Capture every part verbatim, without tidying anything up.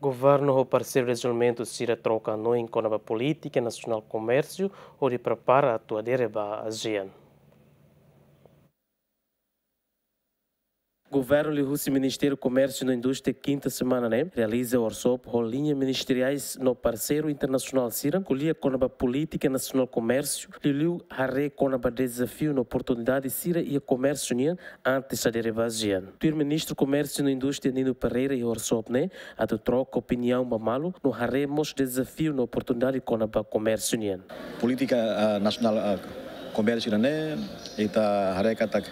Governu ho parseiru dezenvolvimentu sira troka hanoin kona-ba polítika nasionál komérsiu hodi prepara atu adere ba ASEAN. Governu liuhusi Ministériu Komérsiu no Indústria kinta semana ne'e realiza workshop ho liña ministeriais no parseiru internasionál sira ko'alia kona-ba polítika nasionál komérsiu, liuliu haree kona-ba dezafiu no oportunidade sira iha komérsiu nian antes adere ba ASEAN. Tuir Ministru Komérsiu no Indústria Nino Pereira iha workshop ne'e atu troka opiniaun ba malu no haree mós dezafiu no oportunidade kona-ba komérsiu nian. Polítika, ah, nasionál, ah, komérsiu ida-ne'e, ita haree katak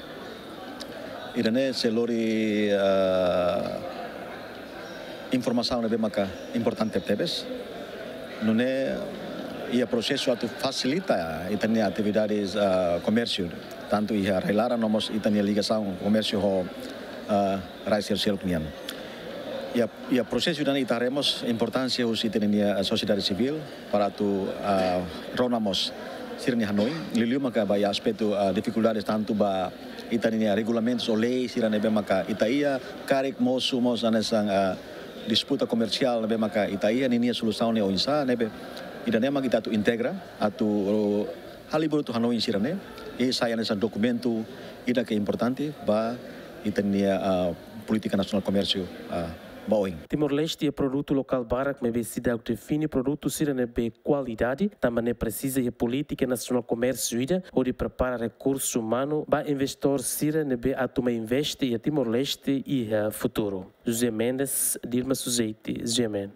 ida-ne'e sei lori, ah, informasaun ne'ebé maka importante tebes. Nune'e iha prosesu atu fasilita ita-nia atividades, ah, komérsiu, tantu iha rai-laran no mós ita-nia ligasaun komérsiu ho, ah, rai seluk-seluk nian. Iha, iha prosesu ida-ne'e ita haree mós importánsia husi ita-nia sosiedade sivíl para atu, ah, rona mós sira-nia hanoin, liuliu maka ba iha aspetu, ah, difikuldades tantu ba ita-nia regulamentus ou lei sira ne'ebé maka ita iha, karik mosu mós hanesan, ah, disputa komersiál ne'ebé maka ita iha, ninia solusaun ne'e oinsá, ne'ebé ida-ne'e mak ita atu integra, atu halibur hotu hanoin sira-ne'e, i sai hanesan dokumentu ida ke importante ba ita-nia, ah, polítika nasionál komérsiu, ah, ba oin. Timor-Leste iha produtu lokál barak, maibé seidauk define produtu sira ne'ebé kualidade, tanba ne'e presiza iha polítika nasionál komérsiu ida hodi prepara rekursu umanu ba investidór sira ne'ebé atu mai investe iha Timor-Leste iha futuru. José Mendes, Dilma Suzeti, G M N.